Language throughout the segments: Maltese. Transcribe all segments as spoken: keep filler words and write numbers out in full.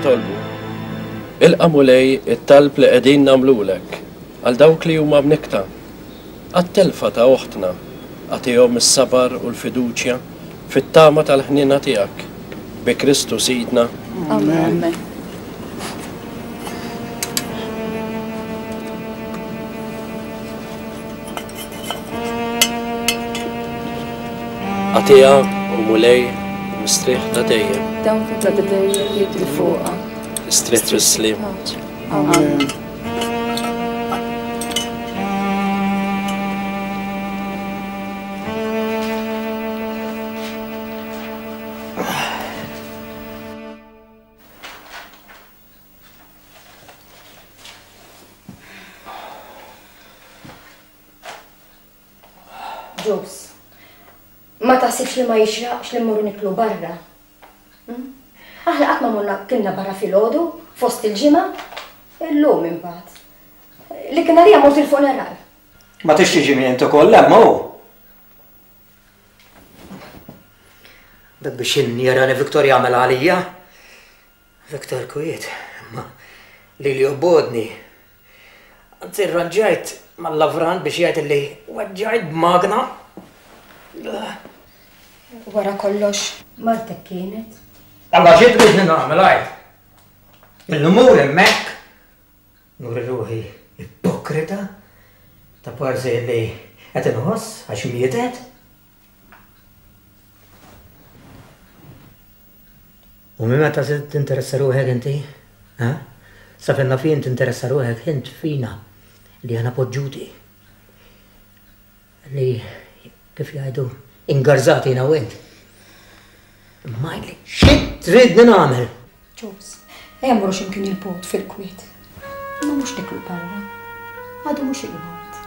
Nitolbu. Ilqa' Mulej it-talb li qegħdin nagħmlulek għal dawk li huma mnikkta, għat-telfa ta' oħtna, agħtihom is-sabar u l-fiduċja fit-tama tal-ħniena tiegħek. Bi Kristu Sidna. Amen. Agħtiha, o Mulej, mistrieħ ta' dejjem. Dawn ta' dejjem jidhru fuqha. Istrieħ fis-sliem. Amen. Ġus, ma taħsibx li ma jixraqx li mmorru niklu barra? Aħna qatt ma morna kilna barra filgħodu fost il-ġimgħa, illum imbagħad. Li kien għalija mort il-funeral. Ma tix tiġi int ukoll hemm hu. Dak biex jarani Viktor jagħmel għalija. Viktor kwiet, imma lili jobgħodni. Anzi rranġajt mal-lavran biex jgħid li weġġajt b'magna. Wara kollox, martek kienet. Alla xi tridni nagħmel għid? Illum hemmhekk nuri ruħi ipokrita ta' parsi li qed inħoss għax mietet. U minn meta se tinteressa ruħek inti? Ha? Sa fejn naf jien tinteressa ruħek int fina li aħna poġġuti. Li kif jgħidu ingarżati jiena u int. Imma għidli xi tridni nagħmel? Ġus, ejja mmorru xi mkien il-bogħod fil-kwiet. Imma mhux niklu barra. Għadu mhux il-waqt.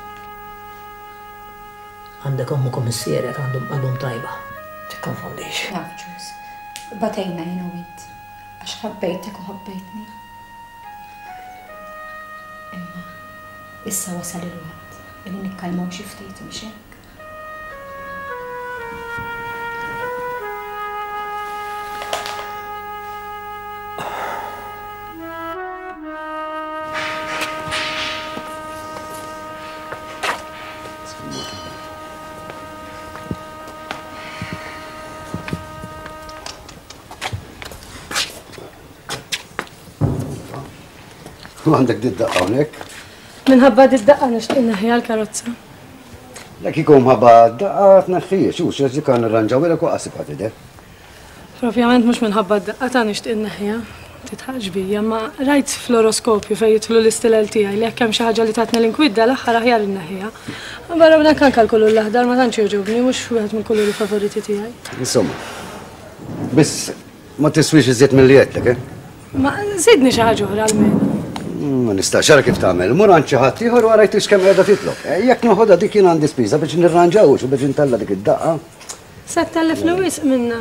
Għandek ommok u missierek għandhom qalbhom tajba. Tikkonfondix. Naf, Ġus. Batejna jien u int. Għax ħabbejtek u ħabbejtni. Imma issa wasal il-waqt li nikkalmaw xi ftit mhux hekk? Għandek did-daqqa hawnhekk? Minħabba did-daqqa nixtieq inneħħiha l-karozza. Jekk ikun mħabba d-daqqa tneħħiex, hux għax dik nirranġawilek u qasib tidher. Propjament mhux minħabba d-daqqa ta' nixtieq inneħħiha. Titħaqx bija, ma rajt fl-oroskopju fejn jidħlu l-istilel tiegħi li jekk hemm xi ħaġa li tatni l-inkwidda l-aħħar aħjar inneħħiha. Barra minn hekk anke l-kulur l-aħdar ma tantx jogħġobni, mhux wieħed mill-kuluri favoriti tiegħi. Insomma, biss ma tiswix iżjed milli għedtlek, eh? Ma żidni xi ħaġa oħra almenu. Ma nistax ara kif tagħmel, mur għand xi ħadd ieħor u ara jtix kemm qiegħda titlob. Jekk noħodha dik jien għandi spiża biex nirranġawx u biex intella' dik id-daqqa. Se tellifni wisq minna.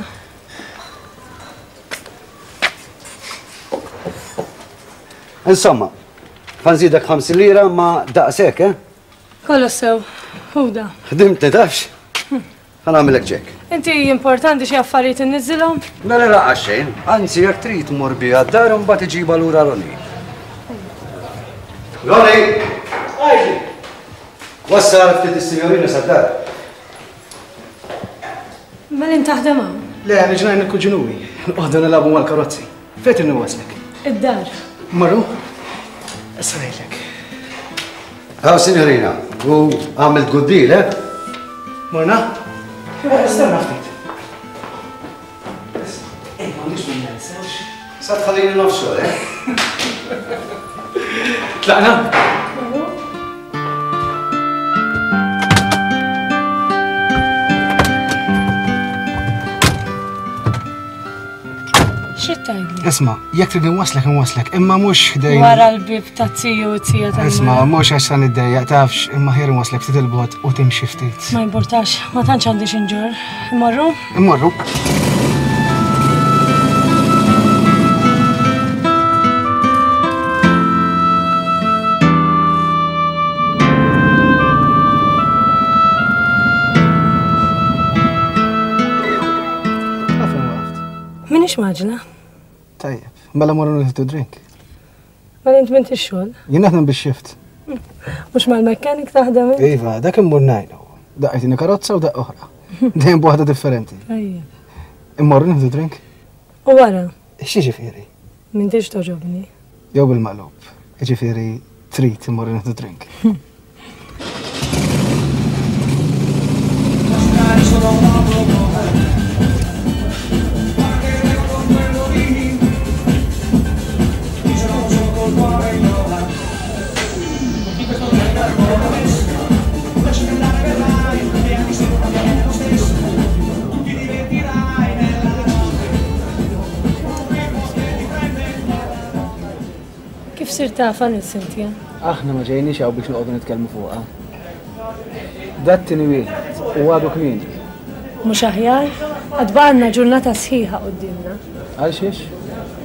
Insomma, ħanżidek ħamsin lira ma daqshekk, eh? Kollox sew, ħuda. Ħdimtni tafx? Ħa nagħmilek ċekk. Inti importanti xi affarijiet inniżilhom? Mela laqgħa xejn, anzi jekk trid tmur biha d-dar u mbagħad iġibha lura Roni. Roni! Għajdi! Wassal ftit is-sinjorina sad-dar. Mela int taħdem hawn? Le, niġi ngħin il-kuġinuwi. Noqogħdu nilagħbu mal-karozzi. Fejn trid niwaslek? Id-dar. Marru? Issa ngħidlek. Hawn sinjorina, u għamilt good deal, eh? Morna? Stenna ftit. Ej, m'għandix minn nensewx. Sa tħallini nofs xogħol, eh? Tlaqna? Xi tgħidli? Isma', jekk trid inwaslek inwaslek, imma mhux ħdejn. Wara l-bib ta' tiju u tija ta' Isma', mhux għax sa niddejjaq tafx, imma ħjar inwaslek ftit il-bogħod u timxi ftit. Ma importax, ma tantx għandi xi nġorr. Immorru? Immorru. Minix maġna. Tajjeb, Mela morru nieħdu drink. Mela int m'intix xogħol? Jien naħdem bix-shift. Mhux mal-mekkanik taħdem? Iva, dak immur ngħinu. Daqqajtini karozza u daqqa oħra. Dejjem b'waħda differenti. Tajjeb. Immorru nieħdu drink? U wara? X'jiġifieri? M'intix toġobni. Jew bil-maqlub. Jiġifieri trid immorru nieħdu drink. Kif sirt tafha lil Cynthia? Aħna ma ġejniex hawn biex noqogħdu nitkellmu fuqha. Dat-tieni wieħed u għadu kmieni. Mhux aħjar? Għad baqgħalna ġurnata sħiħa quddiemna. Għal xiex?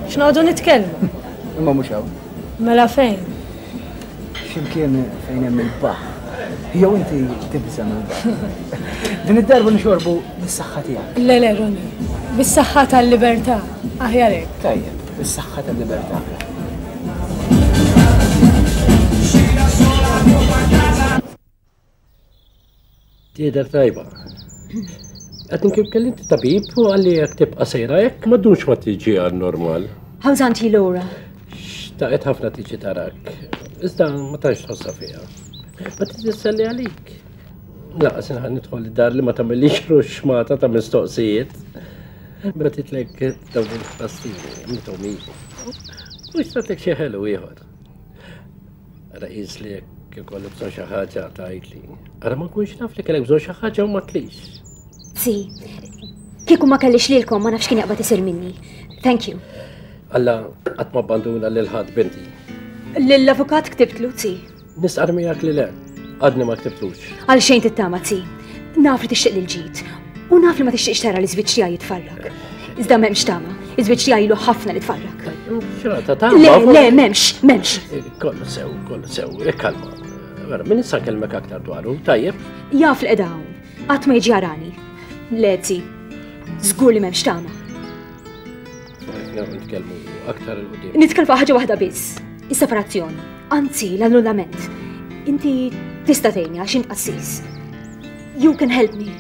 X'noqogħdu nitkellmu. Imma mhux hawn. Mela fejn? X'imkien fejn hemm il-baħar. Jew inti tibża' mill-baħar. Din id-darba nixorbu bis-saħħa tiegħek. Le le Ronnie, bis-saħħa tal-libertà, aħjar hekk. Tajjeb, bis-saħħa tal-libertà. Tidher tajba. Qed nkif kellimt tabib u qalli jekk tibqa' sejra hekk ma ddumx ma tiġi għal normal. How's Auntie Laura? Xtaqet ħafna tiġi tarak. Iżda ma tantx tħossha fiha. Ma tisselli għalik. Laqas inħan nidħol id-dar li ma tagħmilix ruxmata ta' mistoqsijiet. Mela titlek dawn il-pastini, għamlithom hi. U xtatek xi ħelu ieħor. Ara qis li jekk ikolli bżonn xi ħaġa tgħidli. Ara ma nkunx naf li kellek bżonn xi ħaġa u ma tlix. Si, kieku ma kellix lilkom ma nafx kien jaqbad isir minni. Thank you. Alla qatt ma abbanduna lil ħadd binti. Lill-avukat ktibtlu, zi. Nistqar miegħek li le, għadni ma ktibtlux. Għal xejn tittama, zi. Naf li tixtieq lil ġid u naf li ma tixtieqx tara li żwieġ tiegħi jitfarrak. Iżda m'hemmx tama, iż-żwieġ tiegħi ilu ħafna li tfarrak. Xrata tama? Le, le, m'hemmx, m'hemmx. Kollu sew, kollu sew, ikkalma. Vera, min issa nkellmek aktar dwaru, tajjeb? Jaf li qiegħda hawn, qatt ma jiġi jarani. Le, zi, żgur li m'hemmx tama. Nitkellmu aktar 'il quddiem. Nitkellmu fuq ħaġa waħda biss, is-separazzjoni, anzi l-annullament. Inti tista' tgħinni għax int qassis. You can help me.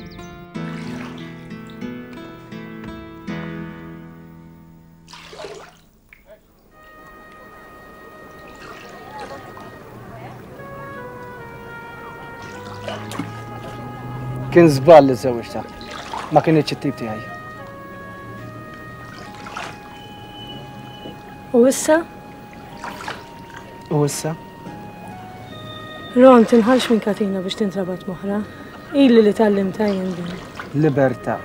Kien żball li żewġtha. Ma kienx it-tip tiegħi. U issa? U issa? Ron, tinħalx minn katina biex tintrabat moħra. Ili li tgħallimtha jien din. Libertà.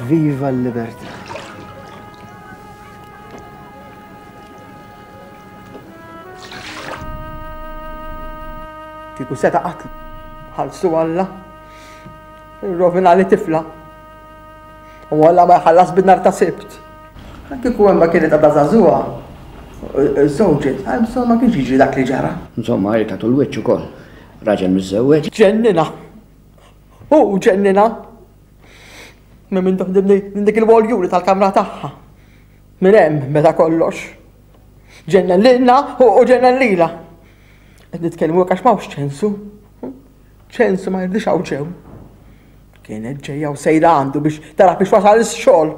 Viva l-libertà. Kieku seta' qatlu. Ħalsu Alla. Irrovina li tifla. U Alla ma jħallas bin-nar ta' Sibt. Kieku hemm ma kienet għadha żagħżugħa, żewġet, insomma ma kienx jiġri dak li ġara. Insomma, hi tagħtu l-wiċċ ukoll. Raġel miżżewweġ. Ġennina. Hu ġennina. Minn minn toħdem minn dik il-woljuri tal-kamra tagħha. Minn hemm meta kollox. Ġennen lilna u ġennen lilha. Qed nitkellmu hekk għax m'hawnx ċensu. Ċensu ma jirdix hawn ġew. Kienet ġejja u sejra għandu biex tara biex wasal ix-xogħol.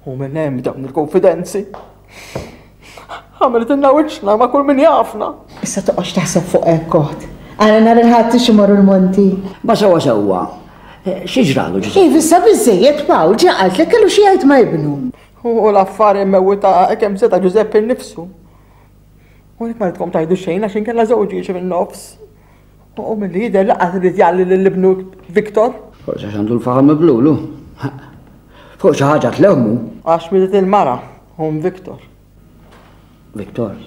U minn hemm dawn il-konfidenzi. Għamlet ilna wiċċna ma' kull min jafna. Issa toqgħodx taħseb fuq hekk oħt. Għala nhar il-Ħadd ix imorru l-Monti. Ma sewwa sewwa. Xi ġralu Ġużeppi? Iva, issa biżżejjed Pawl ġa qaltlek kellu xi jgħid ma' ibnu. U l-affari mmewwita kemm seta' Ġużeppi nnifsu. U għalhekk ma ridkom tgħidu xejn għax inkella żewġi jiġi min-nofs. U milli jidher laqas irid jgħalli lil ibnu Viktor. Forsi għax għandu l-faħam miblulu. Fuq xi ħaġa tlewmu. Għax mietet il-mara, hum Viktor. Viktor.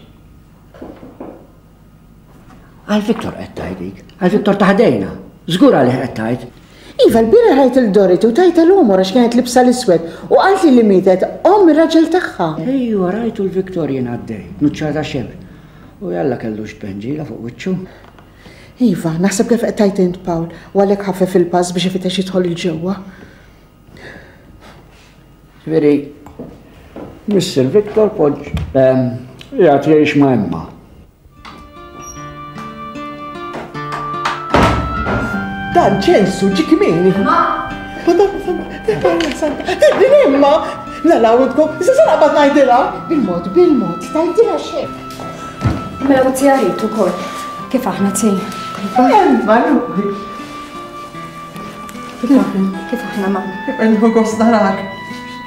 Għal Viktor qed tgħid dik. Għal Viktor ta' ħdejna. Żgur għalih qed tgħid. Iva, l-bieraħ rajt il-Dorothy u tajtha l-għomor għax kienet libsa l-iswed u qaltli li mietet omm ir-raġel tagħha. Ejwa, rajtu l-Viktor jien għaddej, nuċċata xebr. U jalla kellux tbenġila fuq wiċċu. Iva, naħseb kif qed tgħid int Pawl, u għalhekk ħaffef il-pass biex ifittex jidħol il-ġewwa. Ġifieri, Mister Victor poġġ qiegħed jgħix ma' Emma. Dan ċensu ġi kmieni. Ma! Madonna santa, din Emma! La lawdkom, issa se naqbad ngħidilha. Bil-mod, bil-mod, tgħidilha xejn. Mela u tjarit ukoll. Kif aħna ti? Emma, ruħi. Kif aħna, kif aħna ma? Nħu gost narak.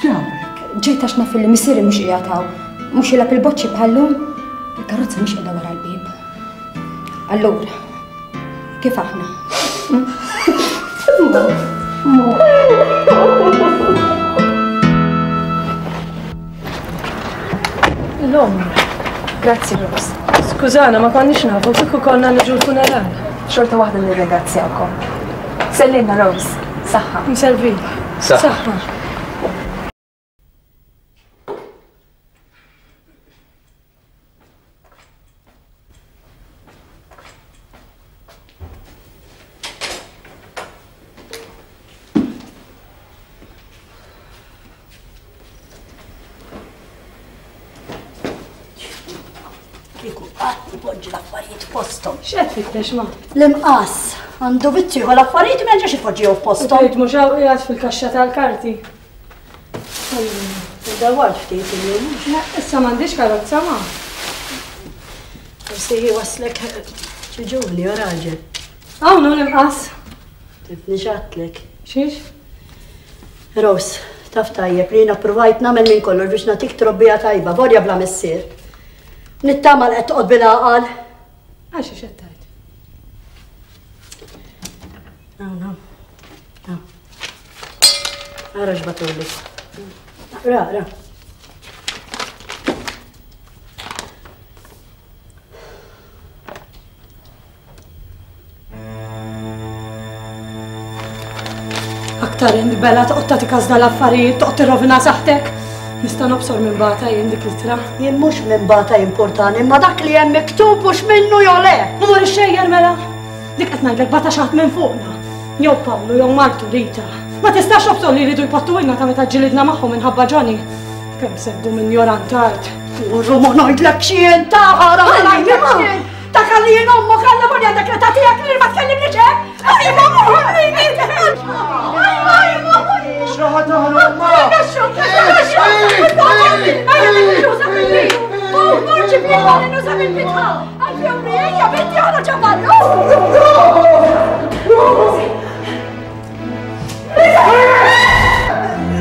Ġabek. Ġejt għax naf li missieri mhux qiegħed hawn. Mhux jilgħab il-boċċi bħallum. Il-karozza mhix qiegħda wara l-bieb. Allura, kif aħna? L-om. Grazzi, Rose. Skużana, ma konniex nafu kieku konna niġu l-funeral. Xorta waħda nirringrazzjakom. Sellimna, Rose. Saħħa. Nservi. Saħħa. X'qed tfittex ma? L-imqas għandu vizzju jieħu l-affarijiet ma jerġax ipoġġihom f'posthom. Tgħid mhux hawn qiegħed fil-kaxxa tal-karti. Dawwart ftit illum. Issa m'għandix karozza ma. Forsi waslek xi ġuvni o raġel. Hawn hu l-imqas. Tifni x'għadtlek. Xiex? Rose, taf tajjeb li jiena ppruvajt nagħmel minn kollox biex nagħtik trobbija tajba, vorja bla missier. Nittama li qed toqgħod bil-għaqal. Għax x'qed tgħid? No, no. No. Ara x'batuli. Ra, ra. Aktar int bella toqgħod tagħti każ dal-affarijiet, toqgħod tirrovina saħħtek. Nista' nobsor minn bata jien dik l-ittra. Jien mhux minn bata importani, imma dak li hemm miktub mhux minnu jew le. U mur ixxejjer mela. Dik qed ngħidlek bata xi ħadd minn fuqna. Jew Pawlu jew martu Rita. Ma tistax nobsor li jridu jpattuilna ta' meta ġilidna magħhom minħabba Johnny. Kemm se ddum injorant art. Urru ma ngħidlek x'jien ta' ħara ma ngħidlek x'jien. Ta' kalli jien ommok alla volja għandek l-età tiegħek li ma tkellimniex hekk. Aj ma X'raħa taħrab ma?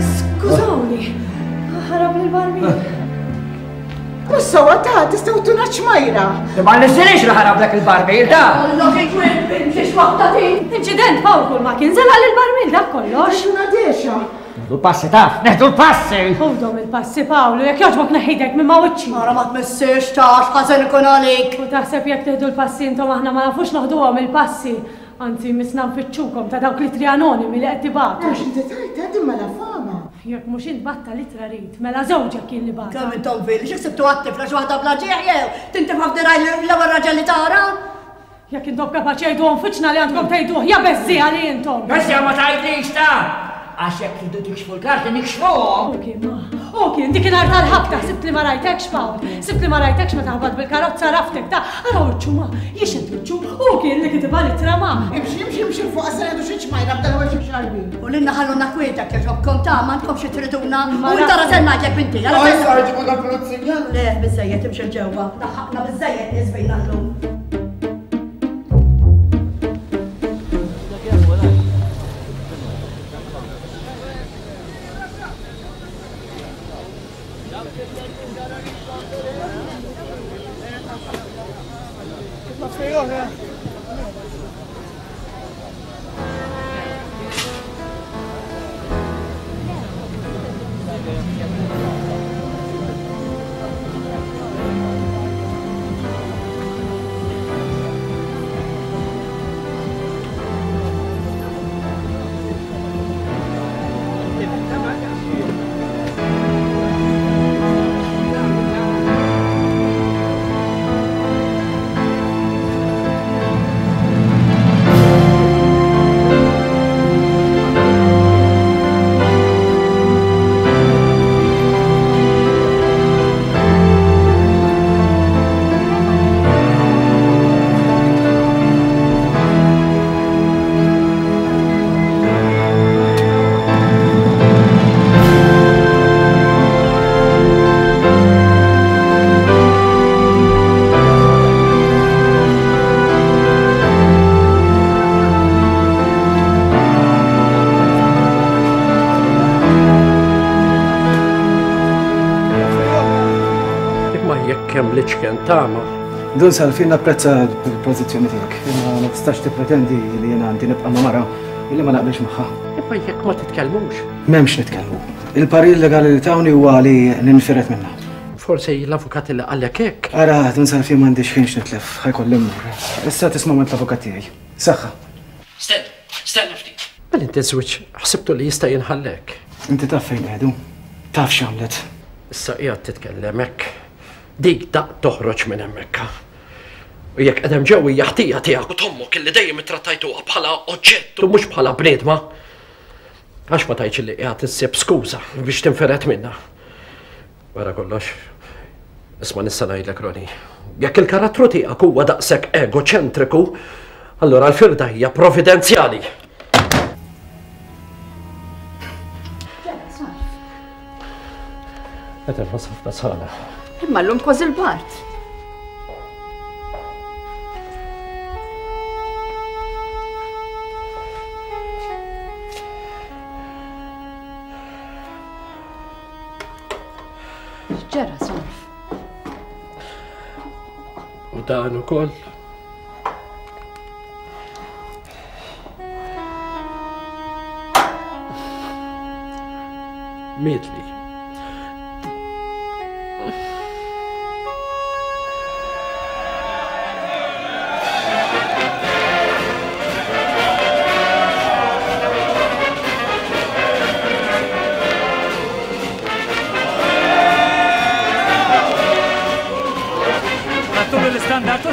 Skużawni, ħarab l-barmil. Mhux sewwa ta' tistgħu tuna ċmajra. Ma nixxilix li ħarab dak il-barmil ta'. Inċident Pawl kull ma kien żelaq il-barmil dak kollox. Xuna dexa. Neħdu l-passi taf, neħdu l-passi! Ħudhom il-passi Pawlu, jekk jogħġbok neħidek minn ma' wiċċi. Ara ma tmissiex ta' x'ħażen ikun għalik. U taħseb jekk tieħdu l-passi intom aħna ma nafux noħduhom il-passi. Anzi, misna nfittxukom ta' dawk l-ittri anonimi li qed tibgħatu. Għax inti tajt din mela fama. Jekk mhux int batta l-ittra rid, mela żewġek kien li bata. Kemm intom fil, xi ksibtu għat-tifla xi waħda bla ġieħ jew tintifha f'diraj l-ewwel raġel li tara? Jekk intom kapaċi jgħiduhom fiċna li għandkom tgħiduh, ja beżżieha li intom. Beżżieha ma tgħidlix ta'! Għax jekk tridu tikxfu l-karti nikxfuhom. U kien ma, u kien dik inhar tal-ħabta sibt li ma rajtekx Pawl, sibt li ma rajtekx meta ħabat bil-karozza raftek ta' ara wiċċu ma, jixed wiċċu, u kien li kitibha l-ittra ma. Imxi, imxi, imxi fuq għasra jgħidu xi ċmajra b'dan huwa xi xarbin. U lilna ħalluna kwieta kieġobkom ta' m'għandkomx xi triduna. U inta rażel ngħidlek binti, ara. Issa ġibu dal-pulizija. Le, biżejjed imxi l-ġewwa. Daħħaqna biżejjed nies bejna llum. kemm l-iċken tama. Dun Salfi, napprezza l-pożizzjoni tiegħek, imma ma tistax tippretendi li jiena għandi nibqa' ma' mara illi ma naqbilx magħha. Imma jekk ma titkellmux. M'hemmx nitkellmu. Il-parir legali li tawni huwa li ninfired minnha. Forsi l-avukat li qallek hekk. Ara, Dun Salfi, m'għandix ħin x'nitlef, ħajkolli mmur. Issa tisma' minn l-avukat tiegħi. Saħħa. Stenna, stenna ftit. Mela inti żwieġ ħsibtu li jista' jinħallek. Inti taf fejn qiegħdu, taf x'għamlet. Issa qiegħed titkellem hekk. Dik daq toħroġ minn hemmhekk. U jekk qedem ġew hija ħtija tiegħek u tommok illi dejjem ittrattajtuha bħala oġġett u mhux bħala bniedma. Għax ma tgħidx li qiegħed issib skuża biex tinferet minnha. Wara kollox, isma' nista' ngħidlek Roni, jekk il-karattru tiegħek huwa daqshekk egoċentriku, allura l-firda hija providenzjali. Qed inħoss ħafna sħana. Imma llum kważi l-bart. X'ġara, Salv? U dan ukoll. Mietli.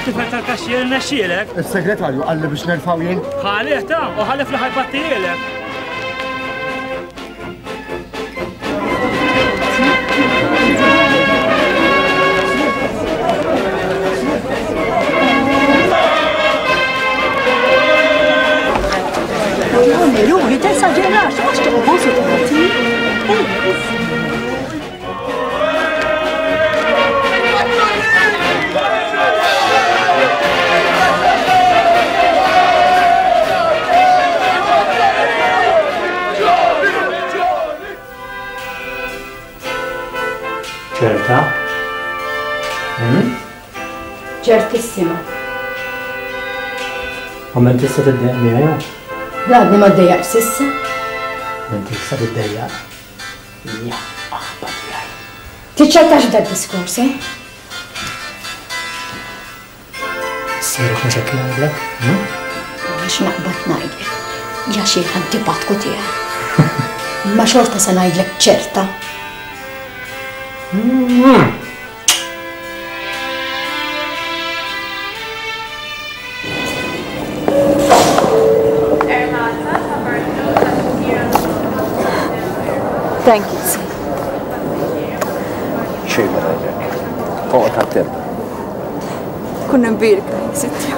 Tifel tal-kaxxier nexxielek. Is-segretarju qalli biex nerfgħu jien. Ħalih ta' u ħalef li ħajbattijielek. Roni, Roni, tesaġerax, għax toqgħod su tagħti. Ċerta? Ċertissima. U men tista' tiddejjaq miegħi? Għadni ma ddejjaq s'issa. Men tista' tiddejjaq? Ja, aħba tiegħi. Tiċċettax b'dak diskors, eh? Sirek mhux hekk ngħidlek? Għax naqbad ngħidlek. Ja xi antipatku tiegħek. Ma xorta se ngħidlek ċerta. Mm. Thank you. Xejn ma ngħidlek. Oqgħod attent. Kun imbierka, sittja.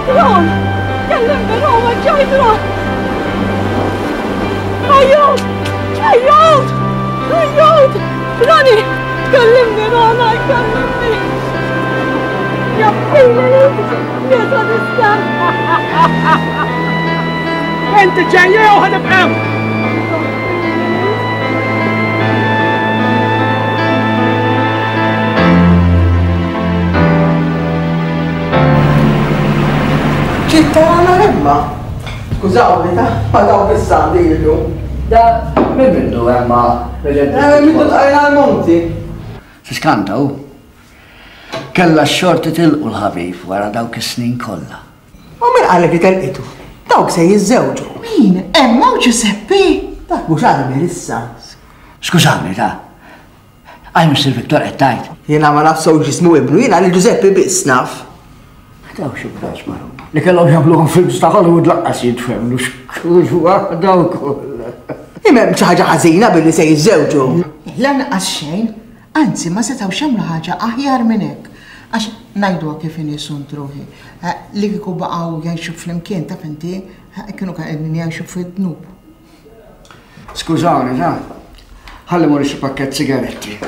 Ron! Kellimni Ron, ġajt Ron! Ajju! Ejjod! Ejjod! Rani! Kellimni, Rana, kellimni! Jaffili! Jesa nistan! Inti ġejja jew ħanibqgħu? Ċitta għana Emma. Skużawni, ta' ma daw bis-sandi illum. Da, minn mindu Emma? Eh, mindu tqajna l-monti. Tiskanta hu. Kella x-xorti tilqu l-ħabib wara dawk is-snin kollha. U min qalek li telqitu? Dawk se jiżżewġu. Min? Emma u Giuseppe? Dak mhux għalmi issa. Skużawni, ta' għaj Mister Victor qed tgħid. Jiena ma naf sew ġismu ibnu, jiena lil Giuseppe biss naf. Daw xi bras marru. Li kellhom jagħmluhom films ta' Hollywood laqqas jitfemlu x'kull waħda wkoll. Imma hemm xi ħaġa ħażina billi se jiżżewġu. Lanqas xejn, anzi ma setgħux jagħmlu ħaġa aħjar minn hekk. Għax ngħiduha kif inhi sunt ruħi. Li kieku baqgħu jgħixu flimkien taf inti, kienu qegħdin jgħixu fid-dnub. Skużawni, ta' ħalli mur xi pakkett sigaretti.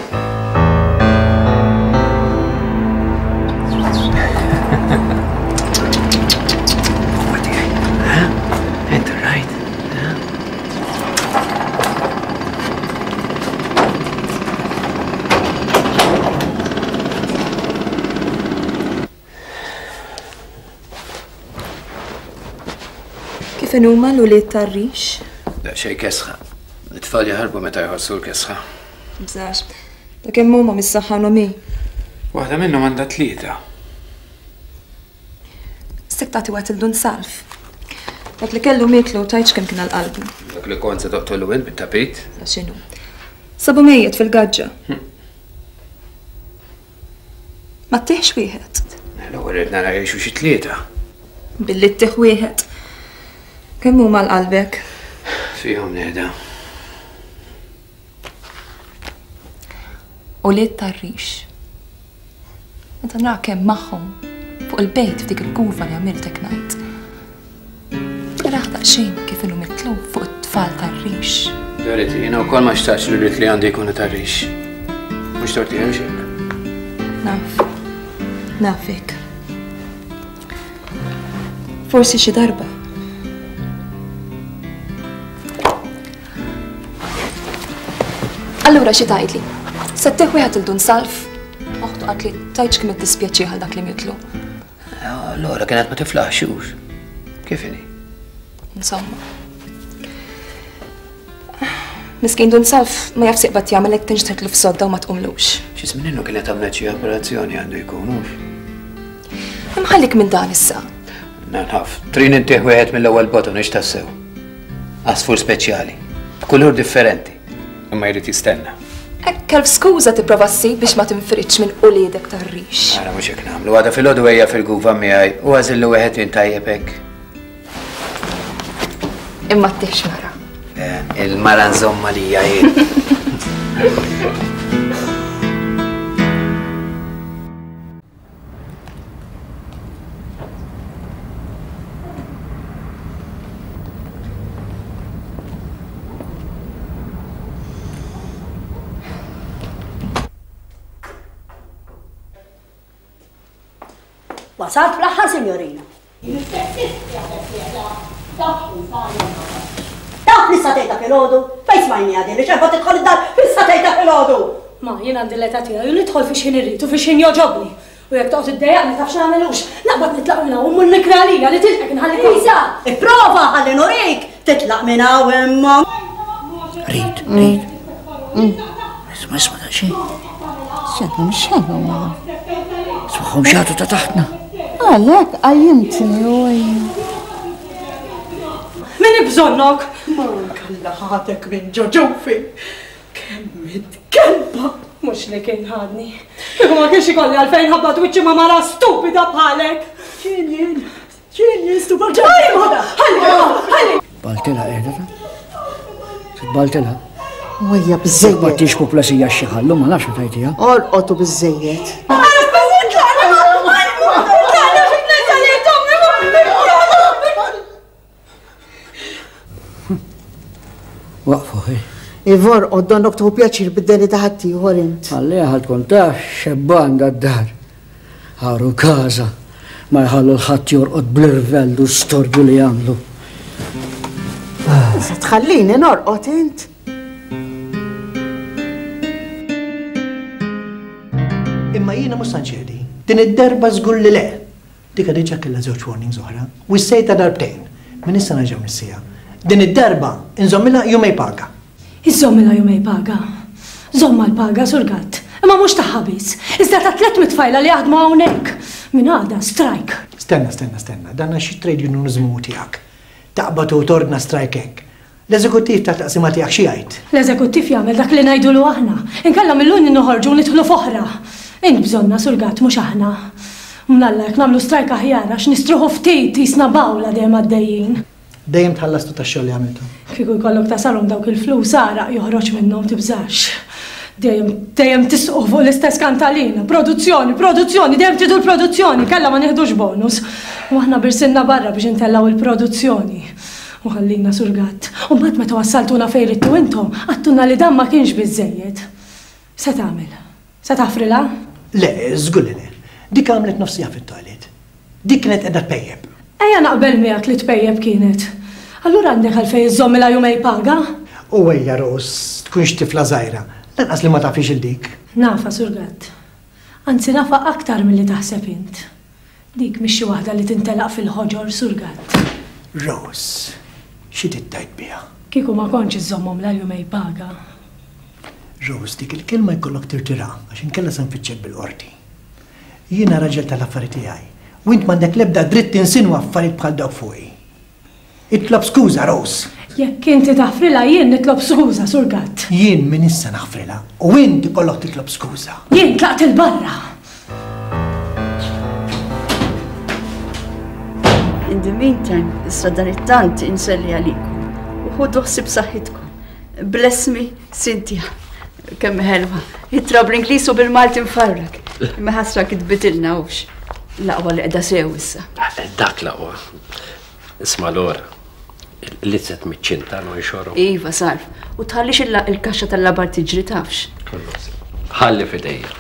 Inti rajt? Kif inhuma l-ulied tar-rix? Daqsxejn kesħa. It-tfal jaħarbu meta jħossu l-kesħa. Bżax. Ta' kemm huma mis-saħħa mi. Waħda minnhom għandha tlieta. Sek tagħti waqt il-dun salf. Dak li kellu mietlu tajtx kemm kien għal-qalbu. Dak li kont se toqtolu int bit-tapit? Sa x'inhu. Sabu mejjet fil-gaġġa. Ma ttieħx wieħed. L-ewwel irid nara jgħixu xi tlieta. Billi ttieħ wieħed. Kemm huma l-qalbek? Fihom nehda. Ulied tar-rix. Meta nara kemm magħhom fuq il-bejt f'dik il-kurva li għamiltek ngħid. Raħ daqsxejn kif inhu mitlub fuq it-tfal tar-rix. Dorothy, jiena wkoll ma xtaqx li rrid li għandi jkunu tar-rix. Mhux torti hemm xejn. Naf. Nafek. Forsi xi darba. Allura xi tgħidli? Se ttieħ wieħed il-dun salf? Oħtu qalt li tgħidx kemm iddispjaċih għal dak li mietlu. Allura kienet ma tiflaħx hux. Kif inhi? Insomma. Miskin dun salf ma jafx jaqbad jagħmel hekk tinġtedlu f'sodda u ma tqumlux. Xi żmien innu kienet għamlet xi operazzjoni għandu jkun hux. Imħallik minn dan issa. Naf, trin intih wieħed mill-ewwel botton ix tassew. Għasfur speċjali, b'kulur differenti. Imma jrid jistenna. Hekk elf skuża tipprova ssib biex ma tinfridx minn uliedek tar-rix. Ara mhux hekk nagħmlu, għada filgħodu ejja fil-guva miegħi u għażillu wieħed minn tajjeb hekk. Imma ttieħx mara. Il-mara nżomma lija jien. Wasalt fl-aħħar, signorina. Taf li satejta filgħodu? Fejn smajni għadi li xerba tidħol id-dar fis-satejta filgħodu? Ma jien għandi l-età tiegħi u nidħol fi x'ħin irrid u fi x'ħin jogħġobni. U jekk toqgħod iddejjaqni taf x'nagħmelux, naqbad nitlaq minn hawn u mmur nikra għalija li tilqek inħalli Lisa, ipprova ħalli nurik titlaq minn hawn imma. Rid, rid. Isma' isma' ta' xejn. X'għandhom x'għandhom? Smagħhom xagħtu ta' taħtna. Għalhekk qajjimtni u Min bżonnok? Ma kalla ħatek minn ġoġufi. Kemm id-kelba! Mhux li kien ħadni. Kieku ma kienx ikolli għalfejn ħabbat wiċċi ma' mara stupida bħalek. X'in jien? X'in jien stupida? Ħalli, ħalli! Baltilha qiegħda ta'? Titbaltilha? Wejja biżejjed. Ma tix puplasija xi ħallu ma nafx tajtija. Orqotu biżejjed. Waqfu, ħi. Ivor, donnok tieħu pjaċir bid-deni ta' ħaddieħor int. Għalli ħa tkun taf xebban dad-dar. Ħaru każa ma jħallu l-ħadd jorqod bl-irvell u storbju li jagħmlu. Se tħallini norqod int? Imma jiena mhux se nċedi. Din id-darba żgur li le. Dika diġà kellha żewġ warnings oħra. Wissejta darbtejn. Minn issa nerġgħu nissija. Din id-darba inżommilha jumej paga. Iżommilha jumej paga. Żomma l-paga, Sur Gatt. Imma mhux tagħha biss. Iżda ta' tliet mit-tfajla li jaħdmu hawnhekk. Min għada strike. Stenna, stenna, stenna. Dan xi trade unionizmu tiegħek. Taqbad u torna strike hekk. L-eżekuttiv ta' taqsima tiegħek xi jgħid? L-eżekuttiv jagħmel dak li ngħidulu aħna. Inkella mill-union noħorġu u nidħlu f'oħra. Int bżonna, Sur Gatt, mhux aħna. Mnalla jekk nagħmlu strike aħjar għax nistruħu ftit jisna bawla dejjem għaddejjin. Dejjem tħallastu tax-xogħol li għamiltu. Kieku jkollok tasalhom dawk il-flus għaraq joħroġ minnhom tibżax. Dejjem dejjem tisqu fuq l-istess kantalina. Produzzjoni, produzzjoni, dejjem tridu l-produzzjoni, kellha ma nieħdux bonus. U aħna birsinna barra biex intellgħu il-produzzjoni. U ħallina Sur Gatt. U mbagħad meta wassaltuna fejn ridtu intom, għadtulna li dan ma kienx biżżejjed. Se tagħmel? Se taħfrilha? Le, żgur li le. Dik għamlet nofsija fit-toilet. Dik kienet qiegħda tpejjeb. Ejja naqbel miegħek li tpejjeb kienet. Allura għandek għalfejn iżommilha jumej paga? U ejja Rose, tkunx tifla żgħira. Lanqas li ma tafix il dik. Nafa, Sur Gatt. Anzi nafa aktar milli taħseb int. Dik mhix xi waħda li tintelaq fil-ħoġor, Sur Gatt. Rose, xi tittajt biha? Kieku ma kontx iżommhom la jumej paga. Rose, dik il-kelma jkollok tirtira għax inkella se nfittxek bil-qorti. Jiena raġel tal-affari tiegħi u int m'għandek l-ebda dritt tinsinwa affarijiet bħal dawk fuqi. Itlob skuża, Rose. Jekk inti taħfrilha jien nitlob skuża, Sur Gatt. Jien minn issa naħfrilha u inti kollok titlob skuża. Jien tlaqt il-barra. In the meantime, issa dan it-tant inselli għalikom u ħudu ħsieb saħħitkom. Bless me, Cynthia. Kemm ħelwa. Ittra bl-Ingliż u bil-Malti mfarrak. Imma ħasra kitbitilna hux. L-aqwa li qiegħda sew issa. Dak l-aqwa. Isma' Lora, l-lizzet miċ-ċinta non xorru. Iva, sarf. U tħallix il-kaxxa tal-labar tiġri tafx. Ħalli f'idejja.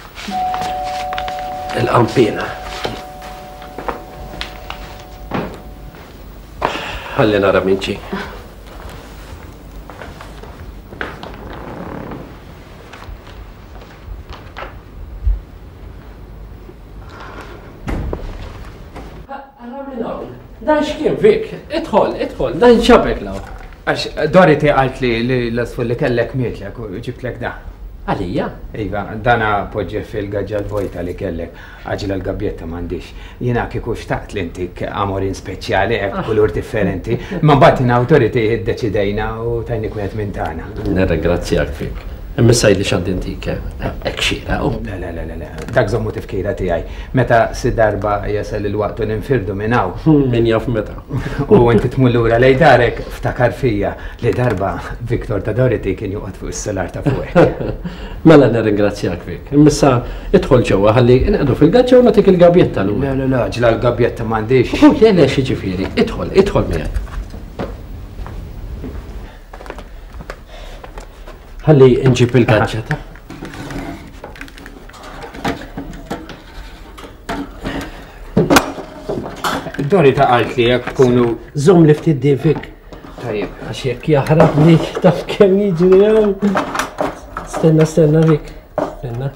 Il-qampina. Ħalli nara min ġie. Dan x'kien Vic? Idħol, idħol, dan xabek law. Għax Dorothy qalt li l-asfur li kellek mietlek u ġibtlek da. Għalija? Iva, dana poġġe fil-gaġġa l-vojta li kellek, għaġla l-gabjetta m'għandix. Jiena kieku xtaqt li intik amorin speċjali hekk kulur differenti, ma mbagħad in awtoriti iddeċidejna u tajnik wieħed minn tagħna. Nirringrazzjak Vic. Imma li x'għandi intik hekk xieraq. Le, le, le, le, dak żommu tifkira tiegħi. Meta si darba jasal il-waqt u ninfirdu minn hawn. Min jaf meta. U inti tmur lura lejn darek ftakar fija li darba Victor ta' Dorothy kien joqgħod fuq is-solar ta' fuqek. Mela nirringrazzjak Vic. Imma issa idħol ġewwa ħalli inqegħdu fil-gaġġa u nagħtik il-gabjetta lura. Le, le, le, ġla l-gabjetta m'għandix. U le, le, xi ġifieri. Idħol, idħol miegħek. Ħalli nġib il-gaġġa ta'. Dori ta' qalt li jekk tkunu. Żomm li ftit di Vic. Tajjeb. Għax jekk jaħrabni taf kemm jiġri hawn. Stenna, stenna Vic. Stenna.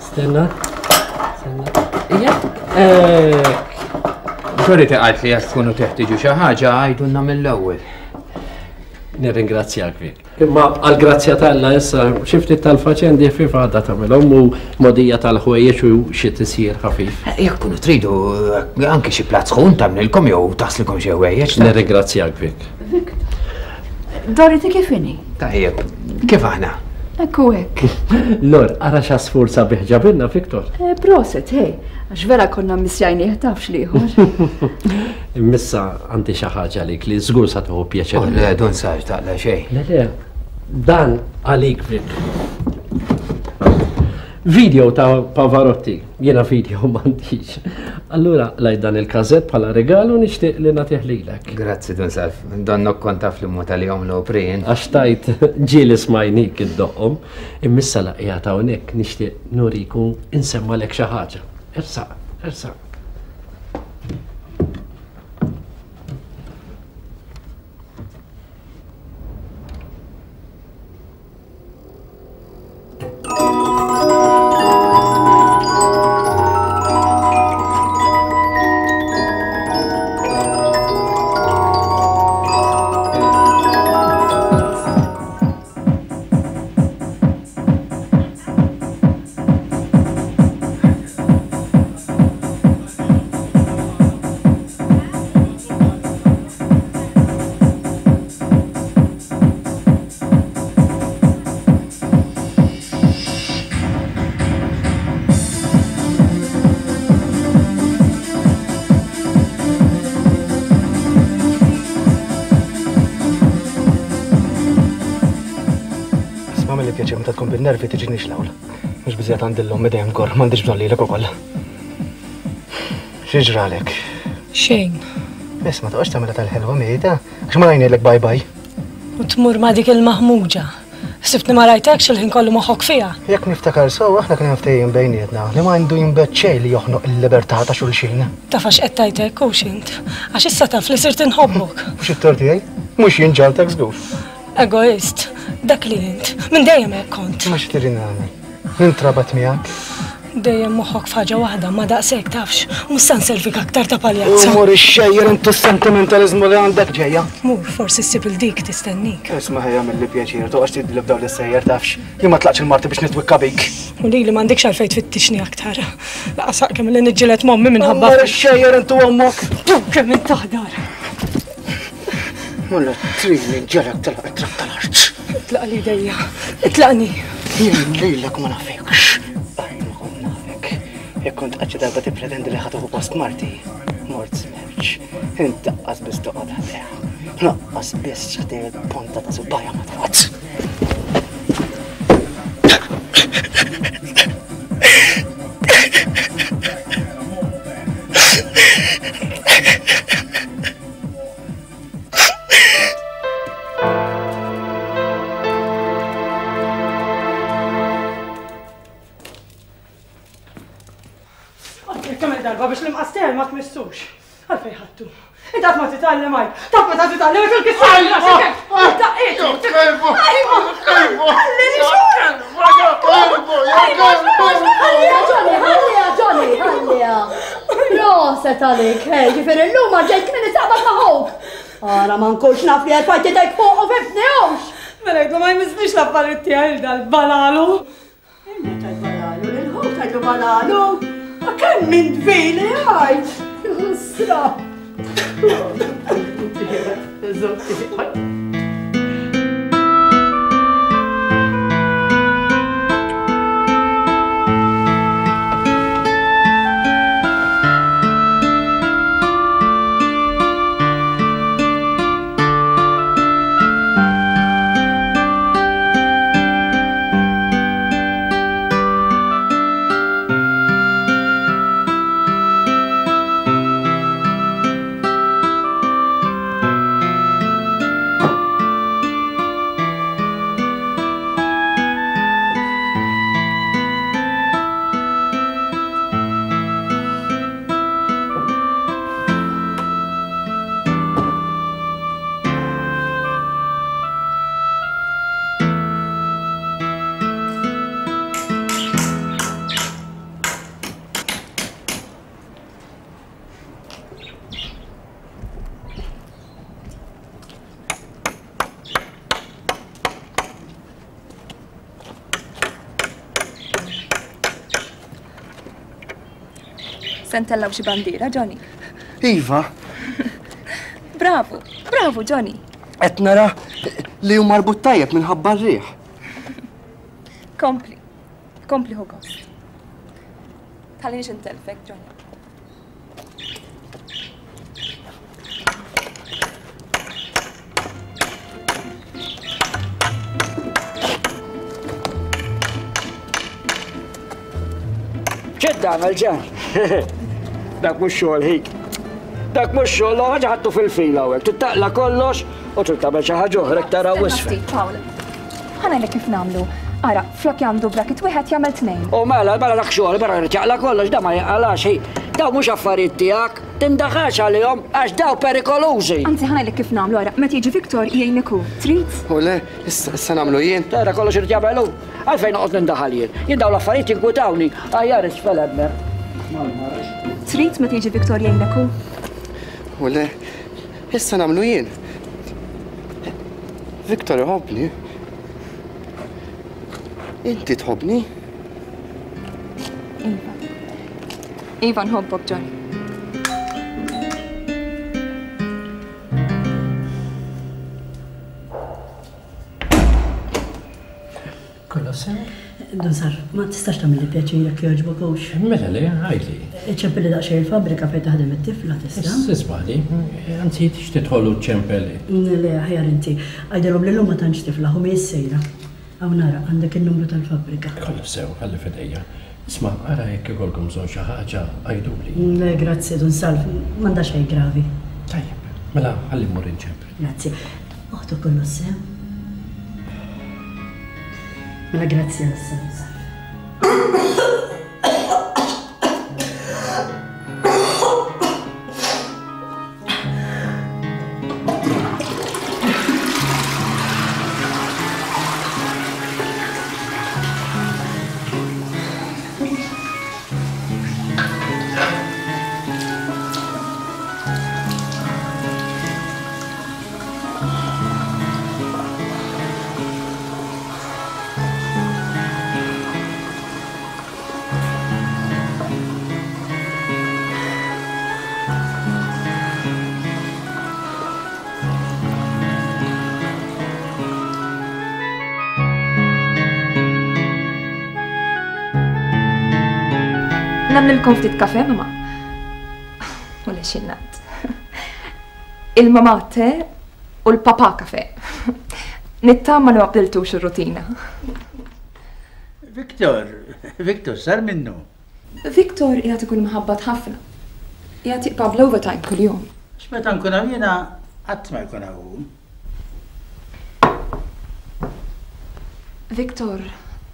Stenna. Stenna. Ija. Hekk. Dori ta' qalt li jekk tkunu teħtieġu xi ħaġa għidulna mill-ewwel. Nirringrazzjak Vic. Imma għal-grazzja t'Alla issa xi ftit tal-faċendi ħfief għadha tagħmilhom u modija tal-ħwejjeġ u xi tisjir ħafif. Jekk tkunu tridu anke xi platt sħun tagħmlilkom jew taħslilkom xi ħwejjeġ. Nirringrazzjak Vic. Victor, Dorothy kif inhi? Tajjeb, kif aħna? Ekku hekk. Lor, ara x'għasfur sabiħ ġabilna Victor. Proset, hej, għax vera konna missjajnieh tafx liħor. Immissa għandi xi ħaġa għalik li żgur sa tieħu pjaċir. Oh, le, dun sarx taqla xejn. Le, le, dan għalik Vic. Video ta' Pavarotti, jiena video m'għandix. Allura lajt dan il-kazett bħala regalu nixtieq li nagħtih lilek. Grazzi Dun Salv, donnok kont taf li mod għalihom l-opri jien. Għax tajt ġieli smajnik iddoqqhom, imma issa la qiegħed hawnhekk nixtieq nuriku insemmalek xi ħaġa. Ersaq, ersaq. Pjaċir meta tkun bin-nervi tiġinix l-awl. Mhux biżejjed għandi l-ommi dejjem kor, m'għandix bżonn lilek ukoll. Xi ġralek? Xejn. Biss ma toqgħodx tagħmilha tal-ħelwa mieta, għax ma ngħidlek bye bye. U tmur ma' dik il-maħmuġa. Sibtni ma rajtekx il-ħin kollu moħħok fiha. Jekk niftakar sew aħna kien ftehim bejnietna li ma għandu jinbet xejn li joħnoq il-libertà ta' xulxin. Taf għax qed tgħid hekk hux int. Għax issa taf li sirt inħobbok. Mhux it-tort tiegħi, mhux jien ġaltek żgur. Egoist, dak li int, minn dejjem hekk kont. Ma xi trid nagħmel? Nintrabat miegħek. Dejjem moħħok f'ħaġa waħda, ma daqshekk tafx, mhux se nservik aktar ta' paljazza. Mur ixxejjer intu s-sentimentaliżmu li għandek ġejja. Mur, forsi ssib il dik tistennik. Isma' ħejja milli pjaċir, toqgħodx tidli b'dawn l-sejjer tafx. Jien ma tlaqx il-marti biex nitwikka bik. U lili m'għandekx għalfejn tfittixni aktar. Laqas kemm li niġġieled m'ommi minħabba. Mur ixxejjer intu ommok. Kemm int taħdar. Mulla trid nġelek telaq it-trab tal-art. Itlaq li dejja, itlaqni. Jien lilek ma nafekx. Għajn ma kont nafek. Jekk kont qatt xi darba tippretendi li ħa tieħu post marti, mort smerċ. Int daqqas biss toqgħod ħdejha. Naqqas biss ħdej il-ponta ta' subajja ma toqgħod. Darba biex l-imqastel ma tmissux. Għalfejn ħattu. Inti qatt ma titgħallem għajt. Taf meta titgħallem ikun kisser rasek. Daqqietu. Kelbu! Kelbu! Kelbu! Kelbu! Ħalliha Johnny, ħalliha Johnny, ħalliha. Proset għalik, hej, ġifieri llum ġejt kmieni taqbad ma' ħuk. Ara ma nkunx naf li erfajt idejk fuq u fifni hux. Mela jgħidlu ma jmissniex l-affarijiet tiegħi dal-balalu. Inti tal-balalu, lil-ħuk tgħidlu balalu. Ma kemm minn dvili għajt! Sra! Se ntellaw xi bandiera, Johnny. Iva. Bravo, bravo, Johnny. Qed nara li hu marbut tajjeb minħabba r-riħ. Kompli, kompli hu gost. Tħallinix intelfek, Johnny. X'qed tagħmel ġan? Dak mhux xogħol ħik. Dak mhux xogħol, ħaġa ħadtu fil-fila hawnhekk. Trid kollox u trid tagħmel xi ħaġa oħra tara wisfel. Pawl, ħa ngħidlek kif nagħmlu. Ara, flok jagħmlu bracket wieħed jagħmel tnejn. U mela, mela dak xogħol, mela jrid jaqla' kollox, da ma jinqalax hi. Daw mhux affarijiet tiegħek, tindaħax għalihom għax daw perikolużi. Anzi, ħa ngħidlek kif nagħmlu, ara, meta jiġi Viktor jgħinek hu. Trid? U le, issa issa nagħmlu jien. Tara kollox irid jagħmel hu. Għalfejn noqgħod nindaħal jien. Jien daw l-affarijiet jinkwitawni. Aħjar isfel hemmhekk. Trid meta jiġi Viktor jgħinek hu? U le, issa nagħmlu jien. Viktor iħobbni. Inti tħobbni? Iva. Iva nħobbok, Johnny. Kollox sew? Dun Sar, ma tistax tagħmel li pjaċir jekk jogħġbok hux. Mela le, għidli. Iċempilli daqsxejn il-fabbrika fejn taħdem it-tifla tista'. Ismagħli, anzi tix tidħol u ċempelli. Le, aħjar inti. Għidilhom li llum ma tantx tifla, hu mhijiex sejra. Hawn nara, għandek in-numru tal-fabbrika. Kollox sew, ħalli f'idejja. Isma', ara jekk ikollkom bżonn xi ħaġa, għiduli. Le, grazzi, Dun Salv, m'għandha xejn gravi. Tajjeb, mela ħalli mmur inċempel. Grazzi. Oħtu kollox sew. Mela grazzi għal Dun Salv. Nagħmlilkom ftit kafe, mama. U le xinnat. Il-mama te u l-papa kafe. Nittama li ma bdiltux ir-rutina. Viktor, Viktor, sar minnu. Viktor qiegħed ikun mħabbat ħafna. Qiegħed jibqa' bl-overtime kuljum. X'meta nkun hawn jiena qatt ma jkun hawn. Viktor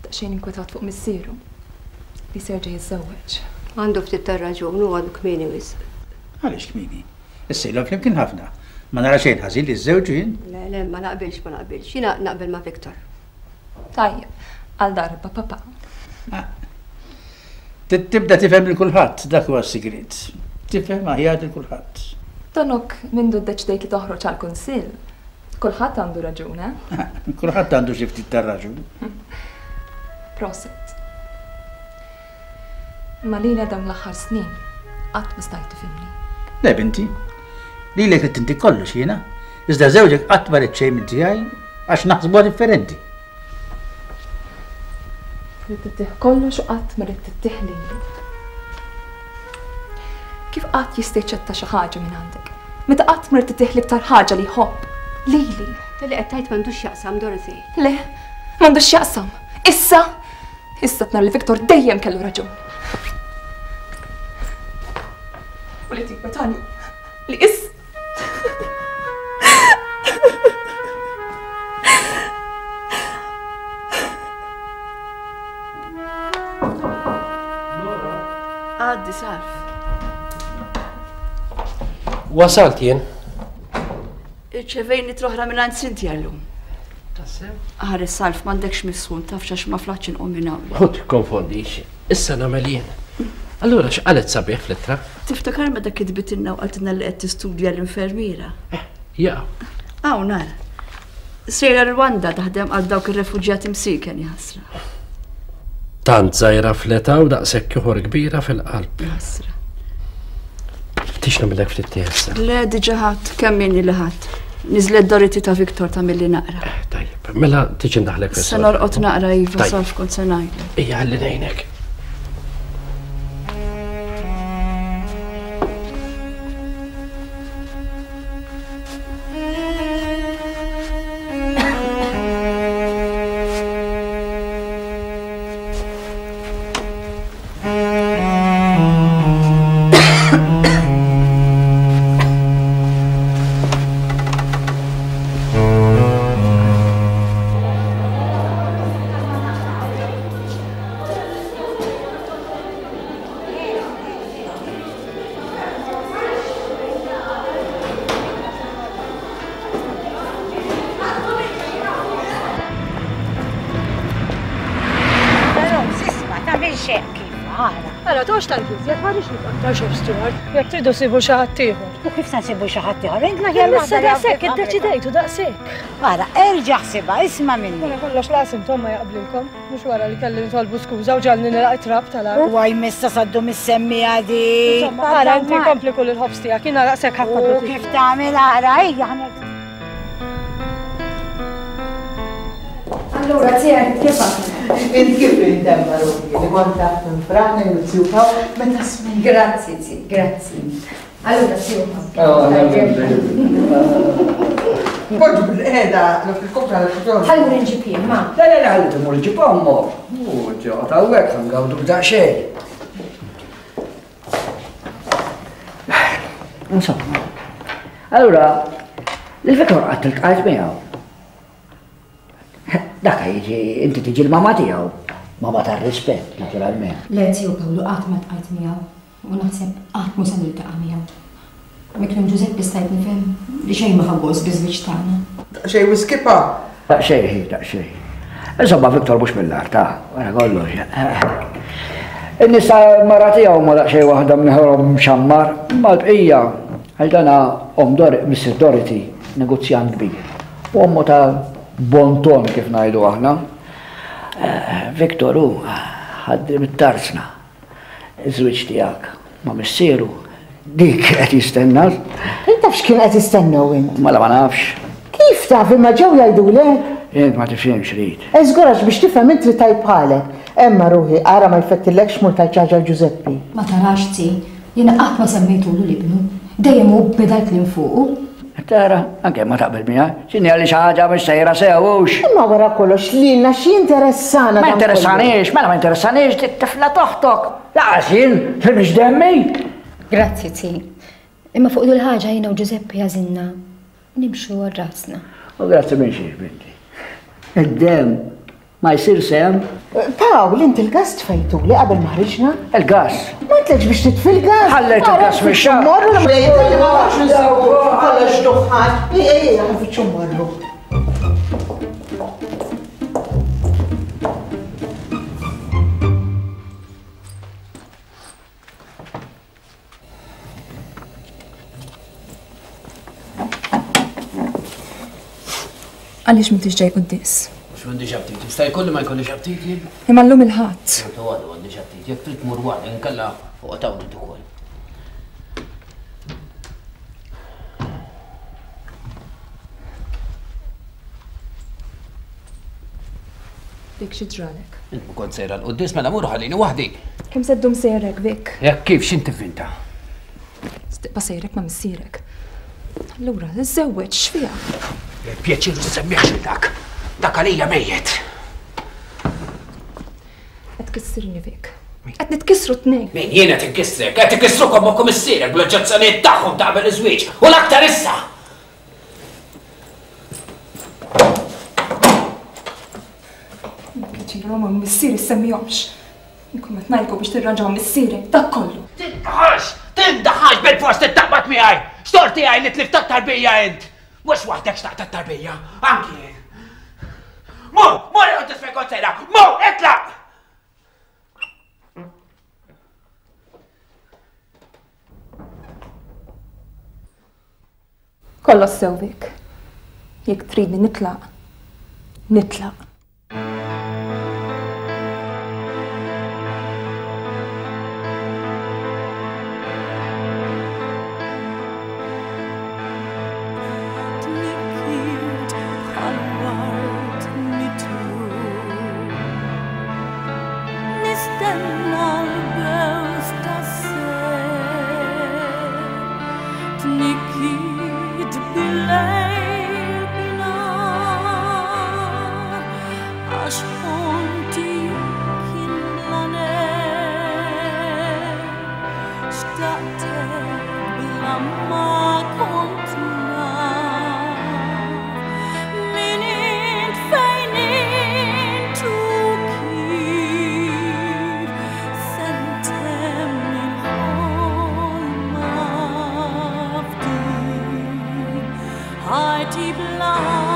daqsxejn inkwetat fuq missieru li se jerġa' jiżżewweġ. Għandu ftit tar-raġun u għadu kmieni wisq. Għaliex kmieni? Issa ilhom flimkien ħafna. Ma nara xejn ħażin li żżewġu jien. Le, le, ma naqbilx, ma naqbilx. Jiena naqbel ma' Viktor. Tajjeb, għal darba papà. Tibda tifhem lil kulħadd, dak huwa s-sigriet. Tifhem aħjar lil kulħadd. Tonok mindu ddeċidejt li toħroġ għall-kunsill. Kulħadd għandu raġun, eh? Kulħadd għandu xi ftit tar-raġun. Prosit. Ma lila dawn l-aħħar snin qatt ma stajt tifhimni. Le binti, lilek trid tinti kollox jiena. Iżda żewġek qatt ma rid xejn minn tiegħi għax naħsbuha differenti. Trid tittih kollox u qatt ma rid tittih lili. Kif qatt jista' jaċċetta xi ħaġa minn għandek? Meta qatt ma rid tittih l-iktar ħaġa li jħobb, lili. Li qed tgħid m'għandux x'jaqsam, Dorothy. Le, m'għandux x'jaqsam. Issa, issa tnar li Viktor dejjem kellu raġun. U li tinkwetani li is Għaddi Salv. Wasalt jien. Irċevejni troħra minn għand Cynthia llum. Tassew? Ħares Salv, m'għandekx misħun, tafx għax ma flaħtx inqum minn hawn. U tikkonfondix, issa nagħmel jien. Allura x'qalet sabiħ fl-ittra? Tiftakar meta kitbitilna u qaltilna li qed tistudja l-infermiera? Ja. Hawn nara. Sejra Rwanda taħdem għal dawk ir-refuġjati msiken jaħsra. Tant żgħira fl-età u daqshekk ieħor kbira fil-qalb. Jaħsra. Tix nagħmilek ftit issa. Le diġà ħadd, kemm inni li ħadd. Niżlet Dorothy ta' Viktor ta' milli naqra. Tajjeb, mela tiġi ndaħlek fis. Se norqod naqra iva Salv kont se ngħidlek. Ejja ħalli ngħinek. Ara, tox tal-kizjet, ma rridx nibqa' aktar shop steward. Jekk tridu sibu xi ħadd ieħor. U kif se nsibu xi ħadd ieħor? Int l-aħjar Issa daqshekk iddeċidejtu daqshekk. Ara, erġa' ħsibha, isma' minni. Wara kollox laqas intom ma jaqblilkom, mhux wara li kelli nitolbu skuża u ġalni nilaq it-trab tal-art. U għaj missa saddu mis-semmija di. Insomma, ara inti kompli kull il-ħobż tiegħek, jiena daqshekk ħadd U kif tagħmel ara, ejja ħa Allura, tiegħek kif aħna? Int kif intemma ruħi li kont taf minn Franna jew Zjuka meta smajt. Grazzi, zi, grazzi. Allura, Zjuka. Poġġu bil-qeda fil-kopra l-xogħol. Ħallu nġib jien, ma. Le, le, le, ħalli timur ġib ommok. U ġoqgħod hawnhekk ħa ngawdu b'daqsxejn. Insomma. Allura, l-Viktor qatt iltqajt miegħu. Dak jiġi, inti tiġi l-mama tiegħu. Mama tar-rispett, naturalment. Le, ziju Pawlu qatt ma tqajt miegħu u naħseb qatt mhu se niltaqa' miegħu. Miklem Giuseppe stajt nifhem li xejn ma ħa gost biż-żwieġ tagħna. Daqsxejn wiskipa. Daqsxejn, hi, daqsxejn. Insomma, Viktor mhux mill-art, ta' wara kollox. In-nisa mara tiegħu ma daqsxejn waħda mneħorhom mxammar, imma l-bqija għal dana omm Dor Missus Dorothy, negozjant kbir. U ommu ta' bonton kif ngħidu aħna. Viktor hu ħaddim it-tarzna. Iż-żwieġ tiegħek ma' missieru dik qed jistenna. Int taf x'kien qed jistennew int? Mela ma nafx. Kif taf imma ġew jgħidulek? Int ma tifhimx rid. Żgur għax biex tifhem int trid tgħid bħalek. Emma ruħi, ara ma jfettillekx mur tgħid xi ħaġa l-Ġużeppi. Ma tarax zi, jiena qatt ma semmejtulu l-ibnu. Dejjem hu beda l-kliem fuqu. Tara, anke ma taqbel miegħi, x'inhi għalli xi ħaġa mhux sejra sew hux. Imma wara kollox lilna x'jinteressana Ma dan kollu? interessanix, mela ma interessanix dik tifla toħtok. Laqas jien, li mhix demmi. Grazzi, zi. Imma fuq dil ħaġa jiena u Giuseppe għażilna nimxu għal rasna. U grazzi minn xiex, binti. Id-dem ma jsir sem. Pawl, inti il-gas tfejtu li qabel ma ħriġna? Il-gas? Ma tlekx biex titfi l-gas. Ħallejt il-gas fix-xahar. Morru la ma nafx nsibu kollox duħħan. Ej, ej, ej, ħanfittxu morru. Għaliex m'intix ġej quddies? Mhux m'għandix aptit, jista' jkolli ma jkollix aptit jien? Imma llum il-Ħadd. Xorta waħda m'għandix aptit, jekk trid tmur waħda inkella oqgħod hawn int ukoll. Dik xi ġralek? Int ma kont sejra l-quddies mela mur ħallini waħdi. Kemm se ddum sejrek, Vic? Jekk kif x'int tivvinta? Tibqa' sejrek ma' missierek. Allura, iżżewweġ x'fiha? Pjaċir semmieħx lil dak. Dak għalija mejjet. Qed tkissirni Vic. Qed nitkissru t-tnejn. Min jien qed inkissrek, qed ikissrukom ommok u missierek bl-oġġezzjonijiet tagħhom ta' qabel iż-żwieġ u l-aktar issa. Pjaċir ma' missieri semmihomx. Inkun qed ngħidlkom biex tirranġaw missierek dak kollu. Tindaħax, tindaħax bil-fost ittaqbad miegħi. X'torti għaj li tlift tat-tarbija int. Mhux waħdek xtaqt tat-tarbija, anki jien. Mur, mur iqgħod tisfel kont sejra, mur, itlaq! Kollox sew Vic. Jekk tridni nitlaq, nitlaq. Bla